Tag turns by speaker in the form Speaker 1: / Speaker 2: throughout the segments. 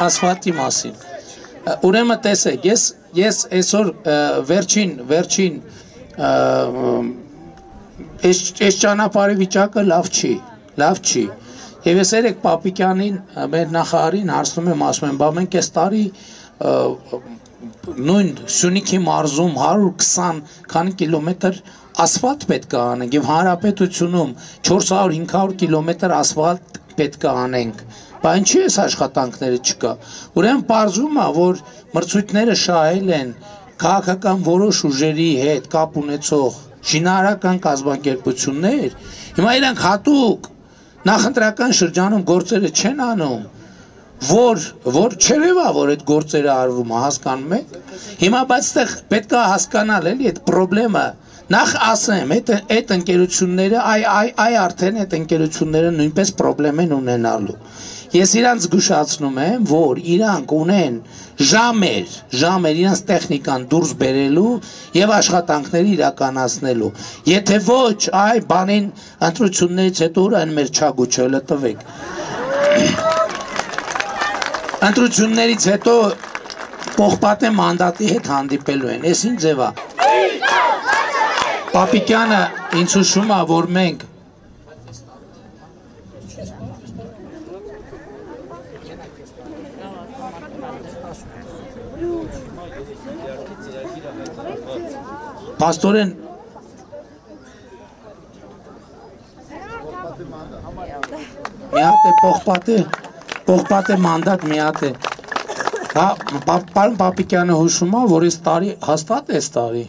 Speaker 1: ասֆալտի մասին, ուրեմն տեսեք, ես այսօր վերջին այս ճանապարհի վիճակը լավ չի, եւ ես երեք Պապիկյանին, մեր նախարարին հարցնում եմ, ասում եմ, բա մենք այս տարի նույն Սյունիքի մարզում 120 քանի կիլոմետր ասֆալտ պետք է անենք եւ հանրապետությունում 400-500 կիլոմետր ասֆալտ պետք է անենք, բա ինչի՞ այս աշխատանքները չկա, ուրեմն պարզվում է, որ մրցույթները շահել են քաղաքական որոշ ուժերի հետ կապ ունեցող շինարարական կազմակերպություններ, հիմա իրանք հատուկ նախընտրական շրջանում գործերը չեն անում, որ չերևա, որ այդ գործերը արվում է, հասկանում եք, հիմա բայց այդտեղ պետք է հասկանալ էլի այդ պրոբլեմը, նախ ասեմ, այդ ընկերությունները, արդեն այդ ընկերությունները նույնպես պրոբլեմ են ունենալու, ես իրանց զգուշացնում եմ, որ իրանք ունեն ժամեր իրանց տեխնիկան դուրս բերելու եւ աշխատանքների իրականացնելու, եթե ոչ, այ բանին ընտրություններից հետո ուր այն մեր չագուչը տվեք, ընտրություններից հետո Պողպատե մանդատի հետ հանդիպելու են, ես ինչ ձև է, Պապիկյանը ինձ հուշում է, որ մենք Պաստորեն մի հատ է Պողպատե մանդատ մի հատ է պարոն Պապիկյանը հուշում է, որ այս տարի հաստատ այս տարի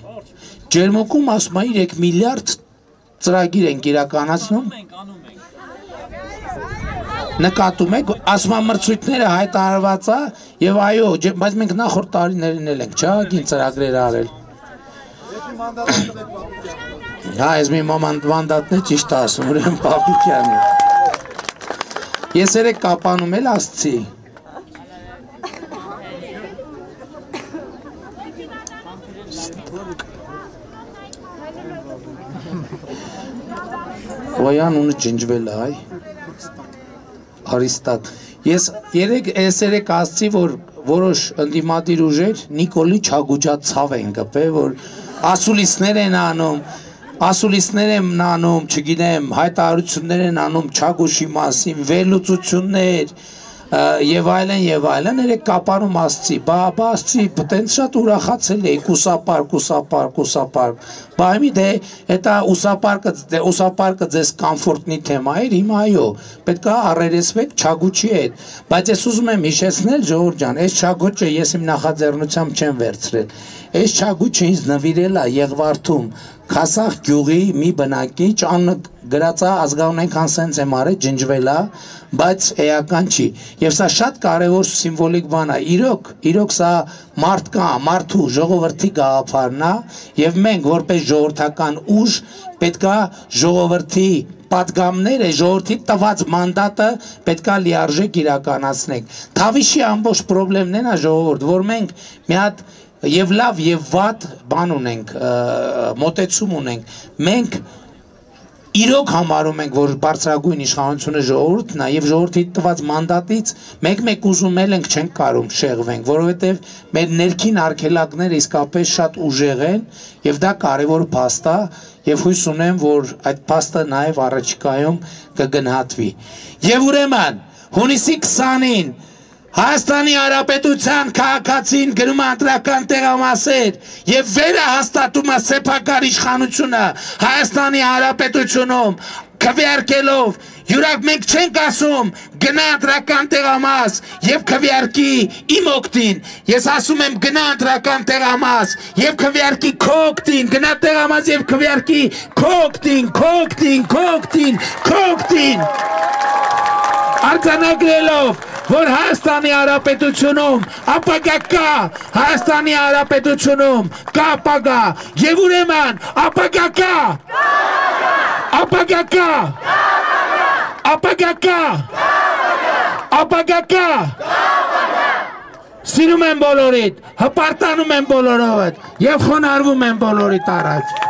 Speaker 1: ջերմուկում ասում է 3 միլիարդ ծրագիր ենք իրականացնում նկատում եք, ասում է մրցույթները հայտարարված է եւ այո, բայց մենք նախորդ տարիներին էլ ենք չաղագին ծրագրեր արել Հա, ես մի մանդատն է ճիշտ ասում, ուրեմն Պապիկյանի Ես երեք կապանում էլ ասցի Ոյան ունը ջնջվել է, այ Արիստատ Ես երեք ասցի, որ որոշ ընդդիմադիր ուժեր Նիկոլի չագուջա ցավ են գպել, որ ասուլիսներ են անում, չգիտեմ, հայտարարություններ են անում Չագուշի մասին, վերլուծություններ եւ այլն, երեք կապանում ասցի, բա ասցի, տենց շատ ուրախացել էի, կուսապարկ, բա հիմի դե, էտա ուսապարկը ձեզ կամֆորտնի թեմա էր, հիմա այո, պետք է առերեսվեք Չագուչի հետ, բայց ես ուզում եմ հիշեցնել, Ժողովուրդ ջան, այս Չագուչը ես իմ նախաձեռնությամբ չեմ վերցրել, այս Չագուչը ինձ նվիրել է Եղվարդում, Քասախ գյուղի մի բնակիչ անունը գրած է ազգանունական սենց եմ արել ջնջվել է, բայց էական չի։ Եվ սա շատ կարևոր սիմվոլիկ բան է։ Իրոք սա մարդու ժողովրդի գաղափարն է, եւ մենք որպես ժողովրդական ուժ պետք է ժողովրդի պատգամները, ժողովրդի տված մանդատը պետք է լիարժեք իրականացնենք։ Թավիշի ամբողջ խնդիրն է ժողովուրդ, որ մենք մի հատ Եվ լավ և վատ բան ունենք, մոտեցում ունենք, մենք իրոք համարում ենք, որ բարձրագույն իշխանությունը ժողովուրդն է և ժողովրդի տված մանդատից մեկ ուզում ենք չենք կարում շեղվենք, որովհետև մեր ներքին արգելակները իսկապես շատ ուժեղ են և դա կարևոր փաստ է և հույս ունեմ, որ այդ փաստը նաև առաջիկայում կգնահատվի։ Եվ ուրեմն հունիսի 20-ին Հայաստանի Հանրապետության քաղաքացին գրում է ընտրական տեղամասեր եւ վերահաստատում է սեփական իշխանությունը Հայաստանի Հանրապետությունում քվեարկելով յուրակ մենք չենք ասում գնա ընտրական տեղամաս եւ քվեարկի իմ օգտին ես ասում եմ գնա ընտրական տեղամաս եւ քվեարկի քո օգտին գնա տեղամաս եւ քվեարկի քո օգտին արձանագրելով որ Հայաստանի Հանրապետությունում ապագա կա, Հայաստանի Հանրապետությունում կա ապագա, եւ ուրեմն ապագա կա, սիրում եմ բոլորիդ, հպարտանում եմ բոլորովդ եւ խոնարհվում եմ բոլորիդ առաջ